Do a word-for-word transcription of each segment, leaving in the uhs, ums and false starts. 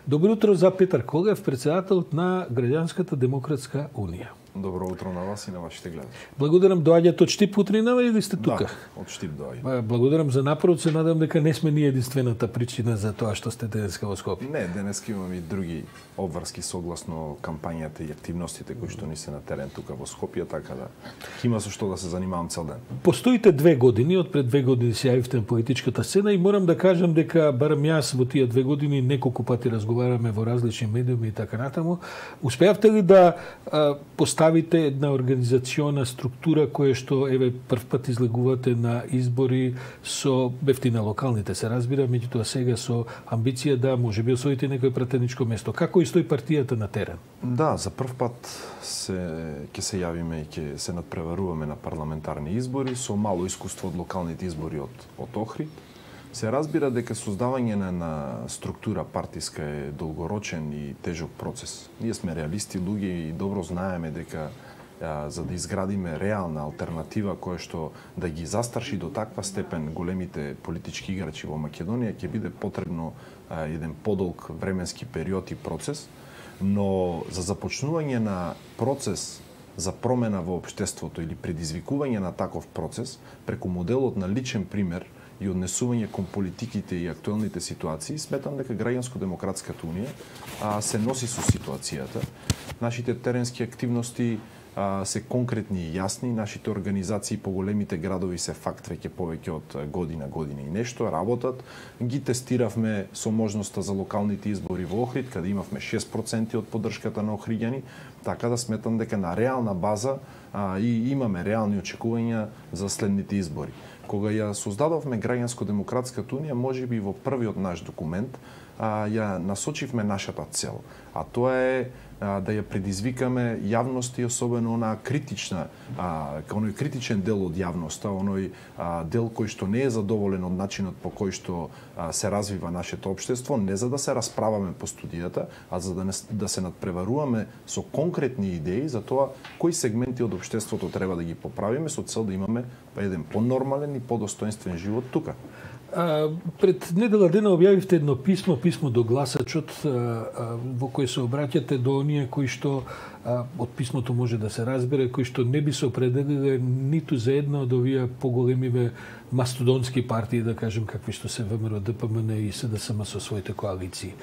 Добро утро за Петар Колев, председателот на Граѓанската демократска унија. Добро утро на вас и на вашите гледачи. Благодарам, доаѓате од Штип утринава или сте тука? Да, од Штип доаѓате. Благодарам за напорот, се надам дека не сме ние единствената причина за тоа што сте денеска во Скопје. Не, денеска имаме и други обврски согласно кампањата и активностите кои што ни се на терен тука во Скопје, така да има со што да се занимавам цел ден. Постоите две години, од пред две години се јавивте на политичката сцена и морам да кажам дека барем јас во тие две години неколку пати разговараме во различни медиуми и така натаму. Успеавте ли да а, поставите една организациона структура која што еве прв пат излегувате на избори со бефти на локалните се разбира, меѓутоа сега со амбиција да можеби освоите некој пратеничко место. Како стои партијата на терен? Да, за прв пат се ќе се јавиме и ќе се надпреваруваме на парламентарни избори со мало искуство од локалните избори од од Охрид. Се разбира дека создавање на, на структура партиска е долгорочен и тежок процес. Ние сме реалисти луѓе и добро знаеме дека а, за да изградиме реална алтернатива која што да ги застраши до таква степен големите политички играчи во Македонија, ќе биде потребно а, еден подолг временски период и процес, но за започнување на процес за промена во општеството или предизвикување на таков процес преку моделот на личен пример и однесување кон политиките и актуелните ситуации, сметам дека Граѓанско-демократската унија а, се носи со ситуацијата. Нашите теренски активности а, се конкретни и јасни, нашите организации по големите градови се факт веќе повеќе од година, година и нешто, работат. Ги тестиравме со можноста за локалните избори во Охрид, каде имавме шест проценти од поддршката на охриѓани, така да сметам дека на реална база а, и имаме реални очекувања за следните избори. Кога ја создадовме Граѓанско-демократската унија, можеби во првиот наш документ, а, ја насочивме нашата цел, а тоа е а, да ја предизвикаме јавност и особено онаа критична, а, оној критичен дел од јавноста, оној а, дел кој што не е задоволен од начинот по кој што а, се развива нашето општество, не за да се расправаме по студијата, а за да, не, да се надпреваруваме со конкретни идеи за тоа кои сегменти од општеството треба да ги поправиме со цел да имаме еден понормален и подостоинствен живот тука. А, пред недела дена објавивте едно писмо, писмо до гласачот, а, а, во кој се обраќате до оние кои што а, од писмото може да се разбере, кои што не би се определиле ниту за една од овие поголемиве мастодонски партии, да кажем, какви што се ВМРО, ДПМН и СДСМ со своите коалиции.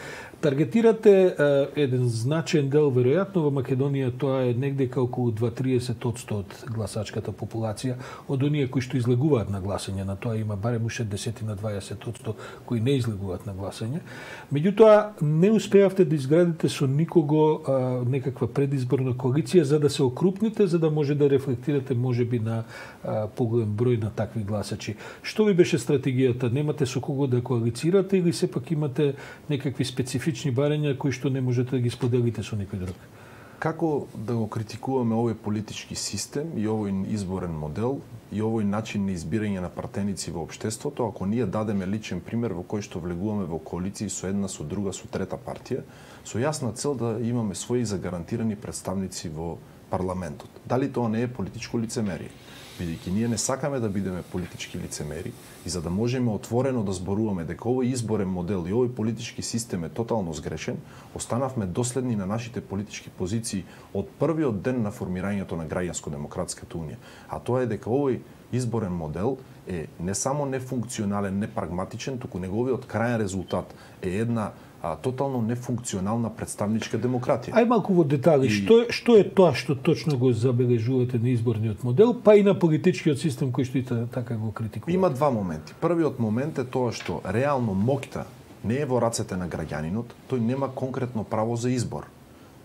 Таргетирате а, еден значаен дел, веројатно во Македонија тоа е негдека околу два до триесет одсто од гласачката популација, од оние кои што излегуваат на гласање, на тоа има барем уште десет на дваесет одсто кои не излегуваат на гласање. Меѓутоа, не успеавте да изградите со никого а, некаква предизборна коалиција за да се окрупните, за да може да рефлектирате можеби на а, поголем број на такви гласачи. Што ви беше стратегијата? Немате со кого да коалицирате или сепак имате некакви специфични барања кои што не можете да ги споделите со некој друг? Како да го критикуваме овој политички систем и овој изборен модел и овој начин на избирање на партеници во општеството, ако ние дадеме личен пример во кој што влегуваме во коалиции со една, со друга, со трета партија, со јасна цел да имаме своји загарантирани представници во парламентот. Дали тоа не е политичко лицемерие? Бидејќи ние не сакаме да бидеме политички лицемери и за да можеме отворено да зборуваме дека овој изборен модел и овој политички систем е тотално сгрешен, останавме доследни на нашите политички позиции од првиот ден на формирањето на Граѓанско-демократската унија. А тоа е дека овој изборен модел е не само нефункционален, непрагматичен, туку неговиот крајен резултат е една а, тотално нефункционална представничка демократија. Ај малку во детали, и... што, е, што е тоа што точно го забележувате на изборниот модел, па и на политичкиот систем кој што и така го критикува? Има два моменти. Првиот момент е тоа што реално моќта не е во рацете на граѓанинот, тој нема конкретно право за избор.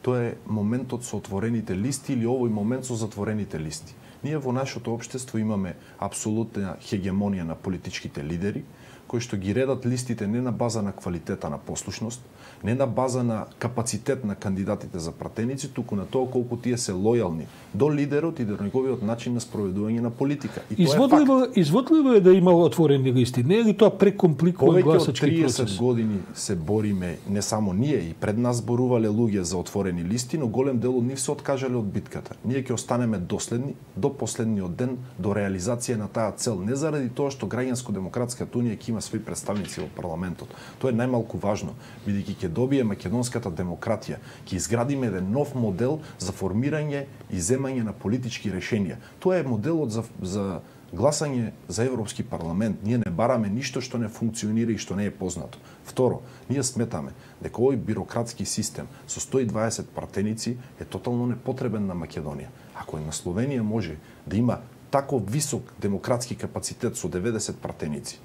Тоа е моментот со отворените листи или овој момент со затворените листи. Ние во нашето општество имаме апсолутна хегемонија на политичките лидери, кои што ги редат листите не на база на квалитета на послушност, не на база на капацитет на кандидатите за пратеници, туку на тоа колку тие се лојални до лидерот и до неговиот начин на спроведување на политика. И изводливо, тоа е факт. Изводливо е да има отворени листи. Не е ли тоа прекомпликува гласачки процес? Повеќе од процес? триесет години се бориме, не само ние, и пред нас зборувале луѓе за отворени листи, но голем дел од нив се откажале од битката. Ние ќе останеме доследни до последниот ден до реализација на таа цел, не заради тоа што Граѓанско-демократската унија ќе има има своји представници во парламентот. Тоа е најмалку важно, бидејќи ќе добие македонската демократија, ќе изградиме еден нов модел за формирање и земање на политички решенија. Тоа е моделот за за гласање за Европски парламент. Ние не бараме ништо што не функционира и што не е познато. Второ, ние сметаме дека овој бирократски систем со сто и дваесет пратеници е тотално непотребен на Македонија. Ако е на Словенија може да има тако висок демократски капацитет со деветдесет пратеници,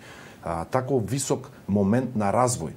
а, тако висок момент на развој,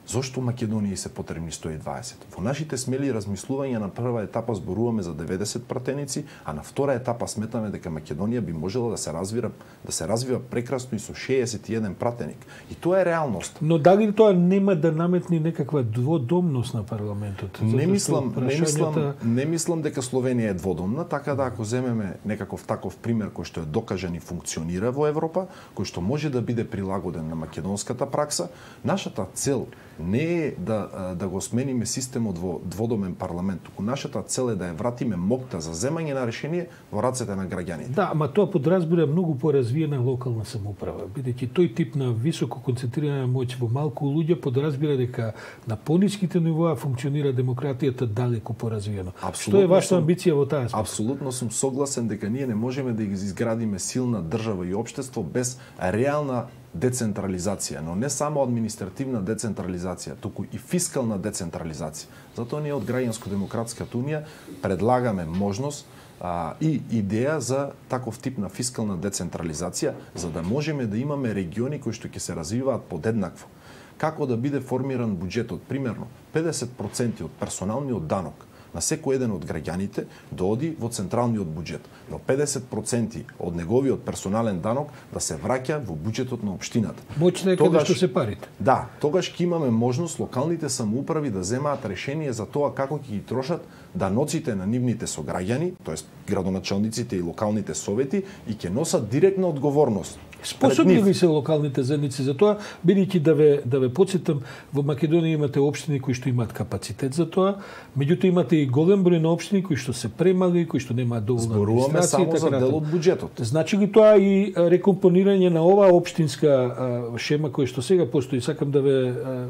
зошто Македонија се потребни сто и дваесет? Во нашите смели размислувања на прва етапа зборуваме за деветдесет пратеници, а на втора етапа сметаме дека Македонија би можела да се развива да се развива прекрасно и со шеесет и еден пратеник. И тоа е реалност. Но дали тоа нема да наметни некаква дводомност на парламентот? Не мислам, прашањата... не мислам, не мислам дека Словенија е дводомна, така да ако земеме некаков таков пример кој што е докажан и функционира во Европа, кој што може да биде прилагоден на македонската пракса, нашата цел не е да, да го смениме системот во дводомен парламент, туку нашата цел е да ја вратиме моќта за земање на решение во рацете на граѓаните. Да, ама тоа подразбира многу поразвиена локална самоуправа, бидејќи тој тип на високо концентрирана моќ во малку луѓе подразбира дека на пониските нивоа функционира демократијата далеку поразвиено. Што е вашата амбиција во таа смисла? Апсолутно сум согласен дека ние не можеме да изградиме силна држава и општество без реална децентрализација, но не само административна децентрализација, туку и фискална децентрализација. Затоа ние од Граѓанско-демократската унија предлагаме можност а, и идеја за таков тип на фискална децентрализација, за да можеме да имаме региони кои што ќе се развиваат подеднакво. Како да биде формиран буџетот? Примерно, педесет проценти од персоналниот данок на секој еден од граѓаните да оди во централниот буџет, но педесет проценти од неговиот персонален данок да се враќа во буџетот на општината. Моќна е каде што се парите. Да, тогаш ќе имаме можност локалните самоуправи да земаат решение за тоа како ќе ги трошат даноците на нивните сограѓани, тоест градоначалниците и локалните совети, и ќе носат директна одговорност. Способни ли се локалните заедници за тоа, бидејќи да ве да ве потсетам, во Македонија имате општини кои што имаат капацитет за тоа, меѓутоа имате и голем број на општини кои што се премали, кои што немаат доволно администрација. Зборуваме само за дел од буџетот. Значи ли тоа и рекомпонирање на оваа општинска шема која што сега постои? Сакам да ве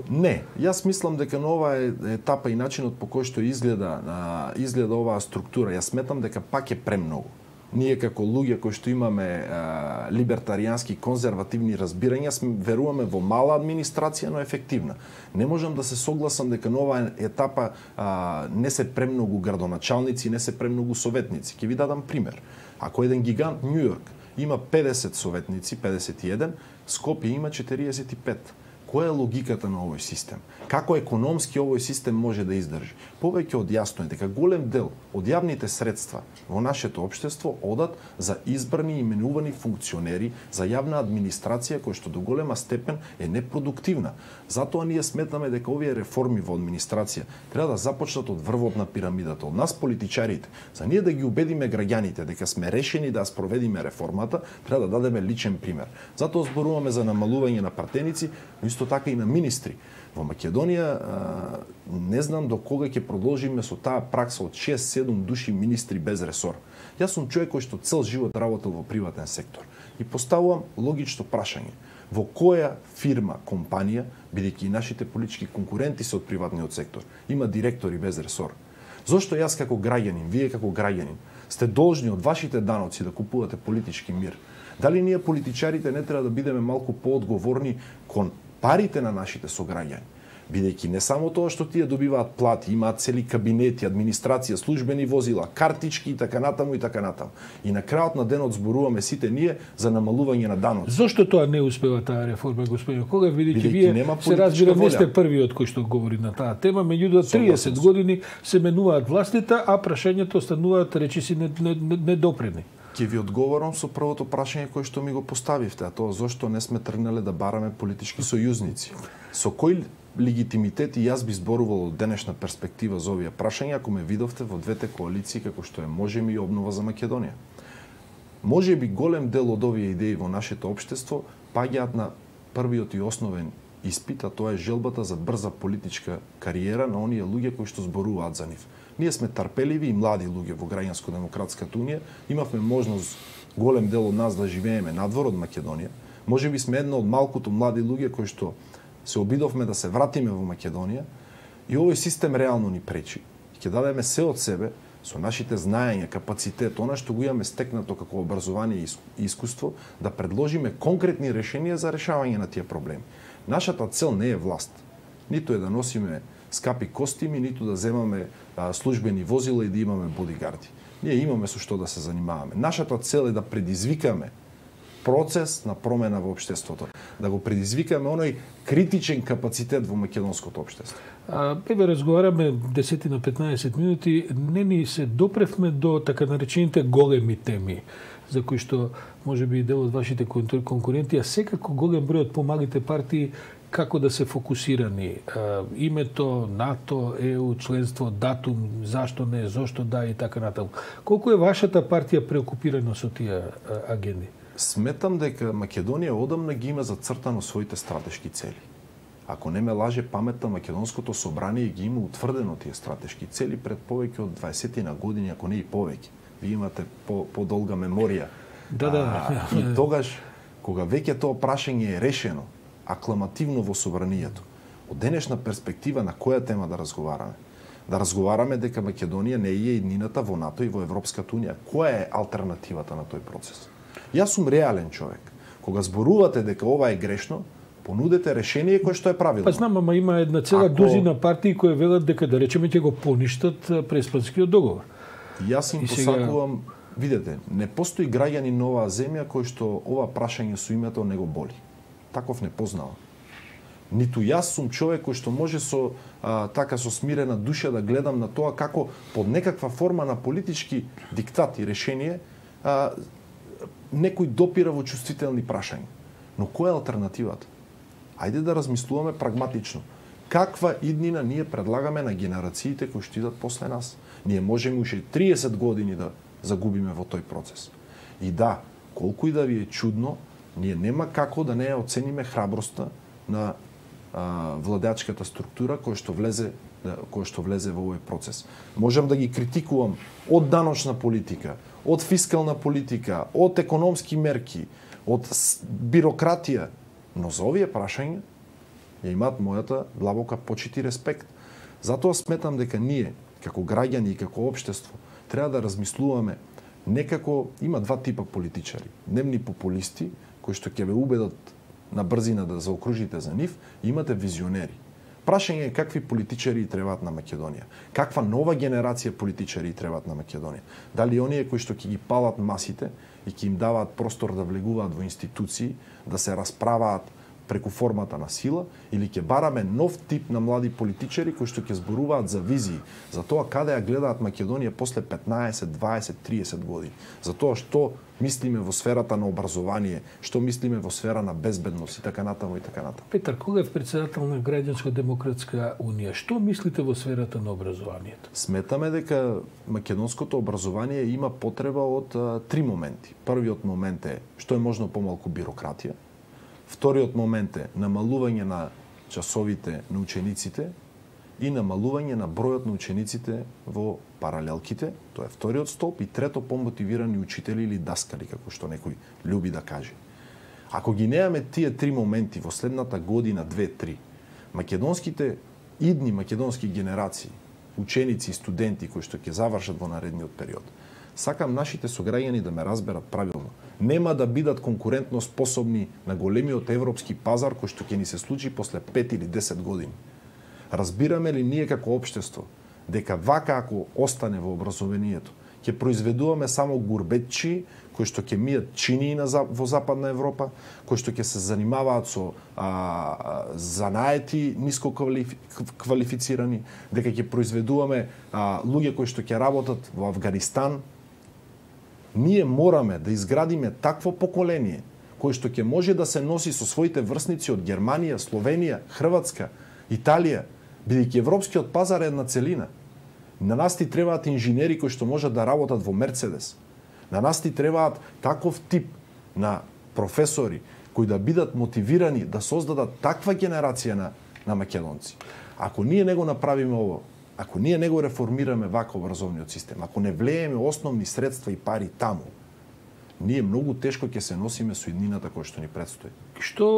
Не, јас мислам дека на оваа етапа и начинот по кој што изгледа изгледа оваа структура, јас сметам дека пак е премногу. Ние како луѓе кои што имаме а, либертаријански конзервативни разбирања, веруваме во мала администрација, но ефективна. Не можам да се согласам дека на оваа етапа а, не се премногу градоначалници, не се премногу советници. Ќе ви дадам пример. Ако еден гигант Њу Йорк има педесет советници, педесет и еден, Скопје има четириесет и пет. Која е логиката на овој систем? Како економски овој систем може да издржи? Повеќе од јасно е дека голем дел од јавните средства во нашето општество одат за избрани и именувани функционери, за јавна администрација која што до голема степен е непродуктивна. Затоа ние сметаме дека овие реформи во администрација треба да започнат од врвот на пирамидата, од нас политичарите. За ние да ги убедиме граѓаните дека сме решени да спроведиме реформата, треба да дадеме личен пример. Затоа зборуваме за намалување на пратеници, но исто така и на министри. Во Македонија не знам до кога ќе продолжиме со таа пракса од шест-седум души министри без ресор. Јас сум човек кој што цел живот работел во приватен сектор и поставувам логично прашање. Во која фирма, компанија, бидејќи и нашите политички конкуренти се од приватниот сектор, има директори без ресор? Зошто јас како граѓанин, вие како граѓанин, сте должни од вашите даноци да купувате политички мир? Дали ние политичарите не треба да бидеме малку поодговорни кон парите на нашите сограѓани? Бидејќи не само тоа што тие добиваат плати, имаат цели кабинети, администрација, службени возила, картички и така натаму и така натаму. И на крајот на денот зборуваме сите ние за намалување на даноци. Зошто тоа не успева таа реформа, господине Кога, бидејќи вие се разбира не сте првиот кој што говори на таа тема, меѓутоа триесет години се менуваат властите, а прашањето остануваат речиси недопредни. Ќе ви одговорам со првото прашање кое што ми го поставивте, а тоа зошто не сме тргнале да бараме политички сојузници. Со кој легитимитет и јас би зборувал од денешна перспектива за овие прашања ако ме видовте во двете коалиции како што е Можеме и Обнова за Македонија? Може би голем дел од овие идеи во нашето општество паѓаат на првиот и основен испит, а тоа е желбата за брза политичка кариера на оние луѓе кои што зборуваат за нив. Ние сме трпеливи и млади луѓе во Граѓанско-демократската унија, имавме можност голем дел од нас да живееме надвор од Македонија, Можеби сме една од малкуто млади луѓе кои што се обидовме да се вратиме во Македонија и овој систем реално ни пречи. Ќе дадеме се од себе со нашите знаења, капацитет, она што го имаме стекнато како образование и искуство, да предложиме конкретни решенија за решавање на тие проблеми. Нашата цел не е власт. Ниту е да носиме скапи костими, ниту да земаме а, службени возила и да имаме бодигарди. Ние имаме со што да се занимаваме. Нашата цел е да предизвикаме процес на промена во општеството, да го предизвикаме оној критичен капацитет во македонското општество. Еве разговараме десет на петнаесет минути, не ни се допревме до така наречените големи теми, за кои што можеби дел од вашите конкуренти, а секако голем број од помалите партии како да се фокусирани. Името, НАТО, ЕУ, членство, датум, зашто не, зошто да и така натаму. Колку е вашата партија преокупирана со тие агенди? Сметам дека Македонија одамна ги има зацртано своите стратешки цели. Ако не ме лаже паметта, Македонското собрание ги има утврдено тие стратешки цели пред повеќе од дваесет на години, ако не и повеќе. Ви имате по, по-долга меморија. Да, да. А, и тогаш, кога веќе тоа прашање е решено, акламативно во собранието, од денешна перспектива на која тема да разговараме? Да разговараме дека Македонија не е еднината во НАТО и во Европската унија. Која е алтернативата на тој процес? Јас сум реален човек. Кога зборувате дека ова е грешно, понудете решение кое што е правилно. Па знам, ама има една цела Ако... дузина партии кои велат дека да речеме ќе го поништат Преспанскиот договор. Јас им посакувам, сега... видете, не постои граѓани на оваа земја кој што ова прашање со името не го боли. Таков не познава. Ниту јас сум човек кој што може со а, така со смирена душа да гледам на тоа како под некаква форма на политички диктат и решение а, некој допира во чувствителни прашања. Но која е алтернативата? Ајде да размислуваме прагматично. Каква иднина ние предлагаме на генерациите кои што идат после нас? Ние можеме уште триесет години да загубиме во тој процес. И да, колку и да ви е чудно, ние нема како да не ја оцениме храброста на а, владеачката структура која што влезе која што влезе во овој процес. Можам да ги критикувам од даночна политика, од фискална политика, од економски мерки, од бирократија, но за овие прашања ја имаат мојата длабока почит и респект. Затоа сметам дека ние, како граѓани и како општество, треба да размислуваме некако, има два типа политичари. Дневни популисти, кои што ќе ве убедат на брзина да заокружите за нив, и имате визионери. Прашање е какви политичари требаат на Македонија. Каква нова генерација политичари требаат на Македонија. Дали оние кои што ќе ги палат масите и ќе им даваат простор да влегуваат во институции, да се расправаат преку формата на сила, или ќе бараме нов тип на млади политичари кои што ќе зборуваат за визии, за тоа каде ја гледаат Македонија после петнаесет, дваесет, триесет години, за тоа што мислиме во сферата на образование, што мислиме во сфера на безбедност и така натаму и така натаму. Петар Кугев, председател на Граѓанско-демократска унија, што мислите во сферата на образованието? Сметаме дека македонското образование има потреба од а, три моменти. Првиот момент е што е можно помалку бирократија. Вториот момент е намалување на часовите на учениците и намалување на бројот на учениците во паралелките, тоа е вториот столб, и трето помотивирани учители или даскали, како што некој љуби да каже. Ако ги немаме тие три моменти во следната година, две-три, македонските идни македонски генерации, ученици и студенти кои што ќе завршат во наредниот период, сакам нашите сограѓани да ме разберат правилно. Нема да бидат конкурентно способни на големиот европски пазар кој што ќе ни се случи после пет или десет години. Разбираме ли ние како општество дека вака ако остане во образованието, ќе произведуваме само гурбетчи кои што ќе мијат чинии на, во Западна Европа, кои што ќе се занимаваат со а, занаети ниско квалифицирани, дека ќе произведуваме а, луѓе кои што ќе работат во Авганистан. Ние мораме да изградиме такво поколение кој што ќе може да се носи со своите врсници од Германија, Словенија, Хрватска, Италија, бидејќи европскиот пазар е една целина. На нас ти требаат инженери кои што можат да работат во Мерцедес. На нас ти требаат таков тип на професори кои да бидат мотивирани да создадат таква генерација на, на македонци. Ако ние не го направиме ово, ако ние не го реформираме вака образовниот систем, ако не влееме основни средства и пари таму, ние многу тешко ќе се носиме со иднината која што ни предстои. Што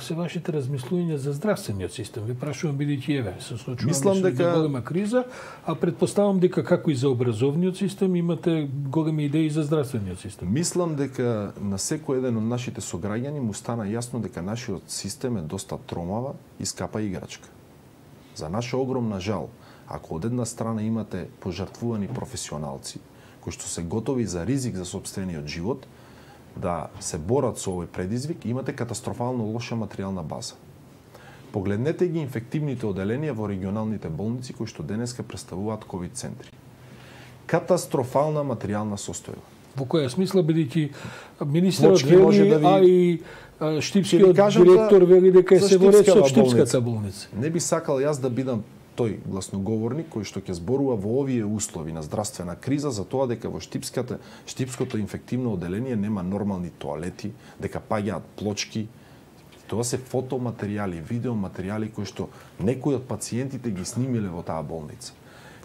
се вашите размислувања за здравствениот систем? Ви прашувам бидејќи еве се случува Мислам дека голема криза, а предпоставам дека како и за образовниот систем имате големи идеи за здравствениот систем. Мислам дека на секој еден од нашите сограѓани му стана јасно дека нашиот систем е доста тромава и скапа играчка. За наша огромна жал, ако од една страна имате пожртвувани професионалци кои што се готови за ризик за сопствениот живот, да се борат со овој предизвик, имате катастрофално лоша материјална база. Погледнете ги инфективните оделенија во регионалните болници кои што денеска представуваат ковид центри. Катастрофална материјална состојба. Во која смисла, бидејќи министерот вели, да ви... а и штипскиот директор вели дека е се во ред со штипската болница. Не би сакал јас да бидам тој гласноговорник кој што ќе зборува во овие услови на здравствена криза за тоа дека во штипската штипското инфективно оделение нема нормални тоалети, дека паѓаат плочки. Тоа се фотоматеријали, видеоматеријали кои што некои од пациентите ги снимиле во таа болница.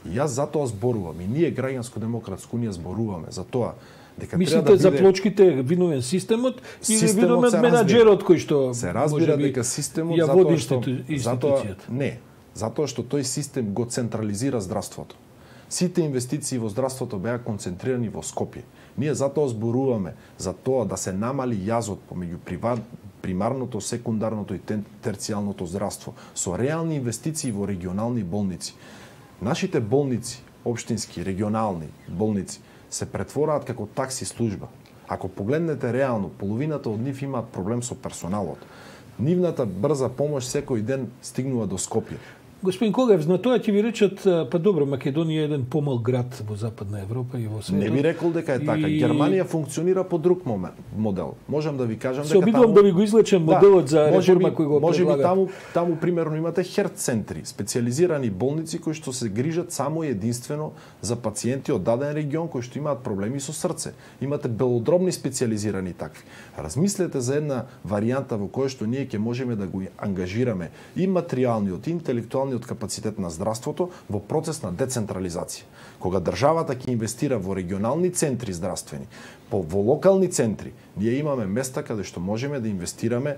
И јас затоа зборувам, и ние Граѓанско-демократска унија зборуваме за тоа дека мислите треба да биде... за плочките виновен системот или виновен менаџерот кој што се разбира дека системот ја затоа води што институцијата? Затоа, не, затоа што тој систем го централизира здравството. Сите инвестиции во здравството беа концентрирани во Скопје. Ние затоа зборуваме за тоа да се намали јазот помеѓу приват, примарното, секундарното и терцијалното здравство со реални инвестиции во регионални болници. Нашите болници, општински, регионални болници, се претвораат како такси служба. Ако погледнете реално, половината од нив имаат проблем со персоналот. Нивната брза помош секој ден стигнува до Скопје. Господин Колев, на тоа ќе ви речат, па добро, Македонија е еден помал град во Западна Европа и во светот. Не би рекол дека е така. И... Германија функционира по друг момент, модел. Можам да ви кажам се дека обидувам таму... да ви го излечем моделот да, за реформа кој го може предлагат. би таму, таму примерно имате херт центри, специализирани болници кои што се грижат само и единствено за пациенти од даден регион кои што имаат проблеми со срце. Имате белодробни специализирани такви. Размислете за една варијанта во која што ние ќе можеме да го ангажираме и материјалниот, и интелектуалниот од капацитет на здравството во процес на децентрализација. Кога државата ќе инвестира во регионални центри здравствени, по во локални центри, ние имаме места каде што можеме да инвестираме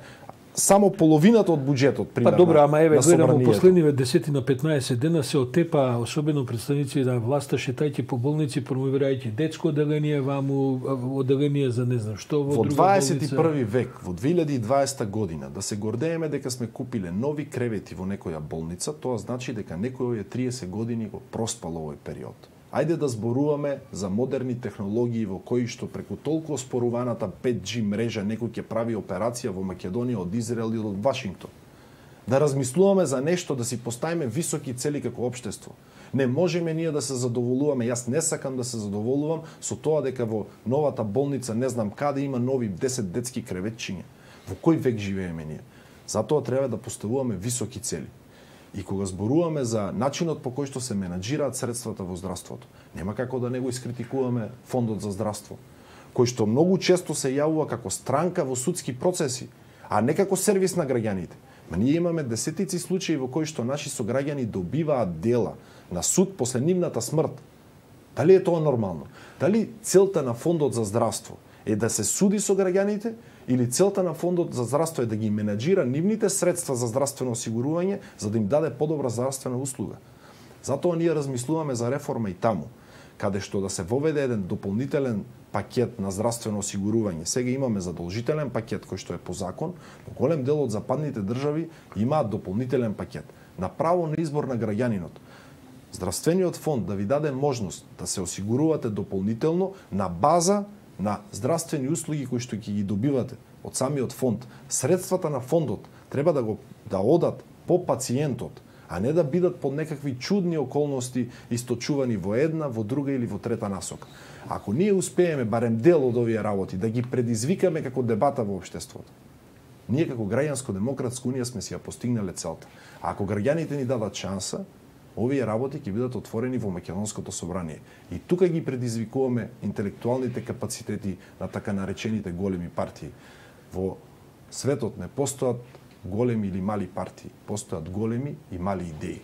само половината од буџетот, примерно. Па добро, ама еве гледам во последниве десет на петнаесет дена се отепа, особено представници на власта, шетајќи по болници, промовирајќи детско оделение, ваму оделение за не знам што во, во друга дваесет и први болница. век, во две илјади и дваесета година, да се гордееме дека сме купиле нови кревети во некоја болница, тоа значи дека некој овие триесет години го проспал овој период. Ајде да зборуваме за модерни технологии во кои што преку толку оспоруваната пет џи мрежа некој ќе прави операција во Македонија од Израел или од Вашингтон. Да размислуваме за нешто, да си поставиме високи цели како општество. Не можеме ние да се задоволуваме, јас не сакам да се задоволувам со тоа дека во новата болница не знам каде има нови десет детски креветчиња. Во кој век живееме ние? Затоа треба да поставуваме високи цели. И кога зборуваме за начинот по кој што се менаџираат средствата во здравството, нема како да не го искритикуваме Фондот за здравство, кој што многу често се јавува како странка во судски процеси, а не како сервис на граѓаните. Ма ние имаме десетици случаи во кои што наши сограѓани добиваат дела на суд после нивната смрт. Дали е тоа нормално? Дали целта на Фондот за здравство е да се суди со граѓаните, или целта на Фондот за здравство е да ги менаџира нивните средства за здравствено осигурување, за да им даде подобра здравствена услуга. Затоа ние размислуваме за реформа и таму, каде што да се воведе еден дополнителен пакет на здравствено осигурување. Сега имаме задолжителен пакет кој што е по закон, но голем дел од западните држави имаат дополнителен пакет на право на избор на граѓанинот. Здравствениот фонд да ви даде можност да се осигурувате дополнително на база на здравствени услуги кои што ќе ги добивате од самиот фонд. Средствата на фондот треба да го да одат по пациентот, а не да бидат под некакви чудни околности источувани во една, во друга или во трета насока. Ако ние успееме барем дел од овие работи да ги предизвикаме како дебата во општеството, ние како Граѓанско-демократска унија сме си ја постигнале целта. А ако граѓаните ни дадат шанса, овие работи ќе бидат отворени во Македонското собрание. И тука ги предизвикуваме интелектуалните капацитети на така наречените големи партии. Во светот не постојат големи или мали партии, постојат големи и мали идеи.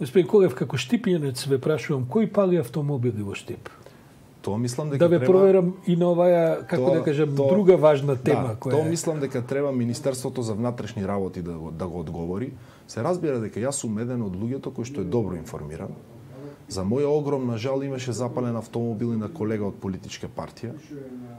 Господин Колев, како штипјанец ве прашувам, кој пали автомобили во Штип? Тоа мислам дека да ве треба... проверам и на оваа, како тоа, да кажам, тоа, друга важна тема да, која тоа мислам дека треба Министерството за внатрешни работи да го, да го одговори. Се разбира дека јас сум еден од луѓето кој што е добро информиран. За моја огромна жал имаше запален автомобил и на колега од политичка партија.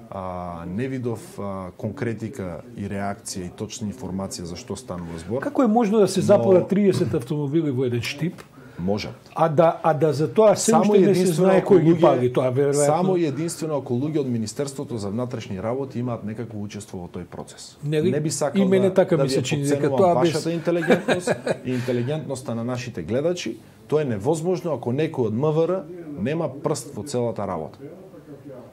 А, не видов а, конкретика и реакција и точна информација за што станува збор. Како е можно да се запалат триесет автомобили во еден штип? Можат. А да а да за тоа се уште не се знае кој ги пали, тоа веројатно. Само и единствено ако луѓе од Министерството за внатрешни работи имаат некакво учество во тој процес. Не, не би сакал и мене да, така да ми се ви чини дека подценувам тоа без вашата интелигентност и интелигентноста на нашите гледачи. Тоа е невозможно ако некој од МВР нема прст во целата работа.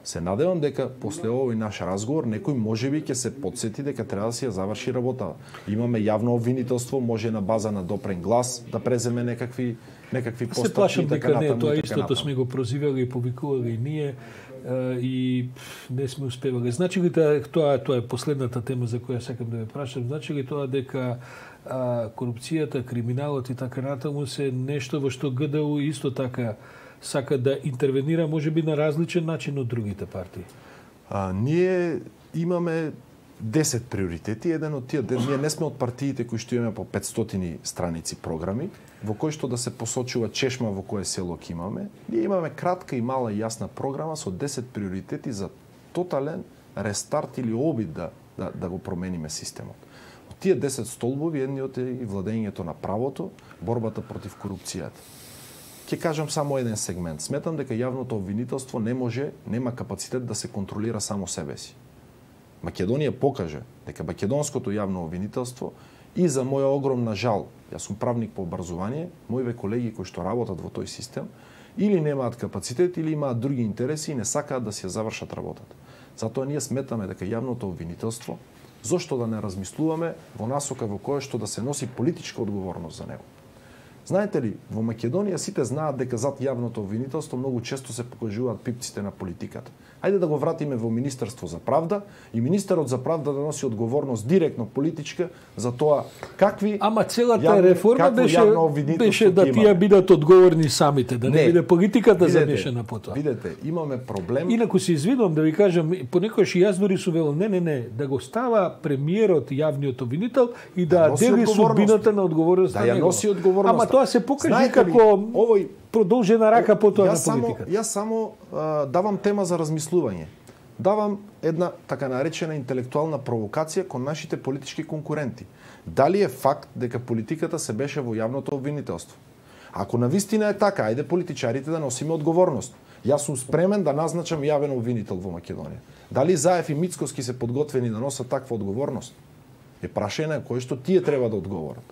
Се надевам дека после овој наш разговор некој можеби ќе се потсети дека треба да си ја заврши работа. Имаме јавно обвинителство, може на база на допрен глас да преземе некакви некакви постапки. Се плашам дека не, тоа така истото сме го прозивали и повикували и ние и не сме успевали. Значи ли тоа тоа е последната тема за која сакам да ве прашам, значи ли тоа дека а, корупцијата, криминалот и така натаму се нешто во што ГДУ исто така сака да интервенира можеби на различен начин од другите партии? А, ние имаме десет приоритети, еден од тие, ние не сме од партиите кои што имаме по петстотини страници програми, во кои што да се посочува чешма во кое село ќе имаме. Ние имаме кратка и мала и јасна програма со десет приоритети за тотален рестарт или обид да, да, да го промениме системот. Од тие десет столбови, едниот е и владењето на правото, борбата против корупцијата. Ќе кажам само еден сегмент. Сметам дека јавното обвинителство не може, нема капацитет да се контролира само себе си. Македонија покаже дека македонското јавно обвинителство и за моја огромна жал, јас сум правник по образование, моите колеги кои што работат во тој систем, или немаат капацитет, или имаат други интереси и не сакаат да си ја завршат работата. Затоа ние сметаме дека јавното обвинителство, зошто да не размислуваме во насока во која што да се носи политичка одговорност за него. Знаете ли, во Македонија сите знаат дека зад јавното обвинителство многу често се покажуваат пипците на политиката. Ајде да го вратиме во Министерство за правда и министерот за правда да носи одговорност директно политичка за тоа какви Ама целата јавни, реформа беше беше да тие бидат одговорни самите, да не, не биде политиката видете, замешана по тоа. Видете, имаме проблем. Инаку се извинувам да ви кажам, понекогаш и јас дури сум велел не, не, не, да го става премиерот јавниот обвинител и да, да дели судбината на одговорност да на ја него. носи одговорноста. Ама тоа се покажи Знаете како ли, овој продолжена рака по тоа на политиката. Само, јас само а, давам тема за размислување. Давам една така наречена интелектуална провокација кон нашите политички конкуренти. Дали е факт дека политиката се беше во јавното обвинителство? Ако навистина е така, ајде политичарите да носиме одговорност. Јас сум спремен да назначам јавен обвинител во Македонија. Дали Заев и Мицковски се подготвени да носат таква одговорност? Е прашање на кој што тие треба да одговорат.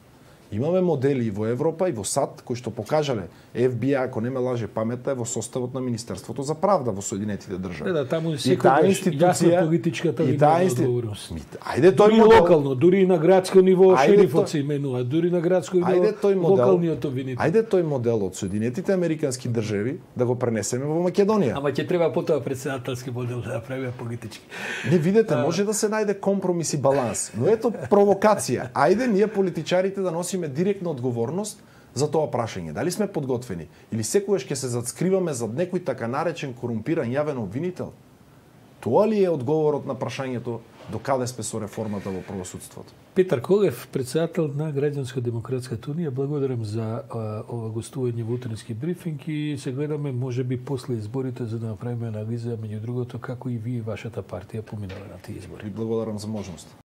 Имаме модели и во Европа и во САД кои што покажале Еф Би Ај, ако не ме лаже паметта, е во составот на Министерството за правда во Соединетите држави. Да, да, таму секогаш јасна политичката линија одговорност. Ајде тој дури модел, локално, дури и на градско ниво шерифот тој... се именува, дури на градско ниво ајде тој модел, локалниот обвинител. Ајде тој модел од Соединетите американски држави да го пренесеме во Македонија. Ама ќе треба потоа претседателски модел да направиме политички. Не видете, може да се најде компромис и баланс, но ето провокација. Ајде ние политичарите да носиме директна одговорност за тоа прашање. Дали сме подготвени или секогаш ќе се зацкриваме зад некој така наречен корумпиран јавен обвинител? Тоа ли е одговорот на прашањето до каде сме со реформата во правосудството? Петар Колев, председател на Граѓанско-демократската унија, благодарам за а, ова гостување во утрински брифинг и се гледаме можеби после изборите за да направиме анализа меѓу другото како и вие и вашата партија поминале на тие избори. И благодарам за можност.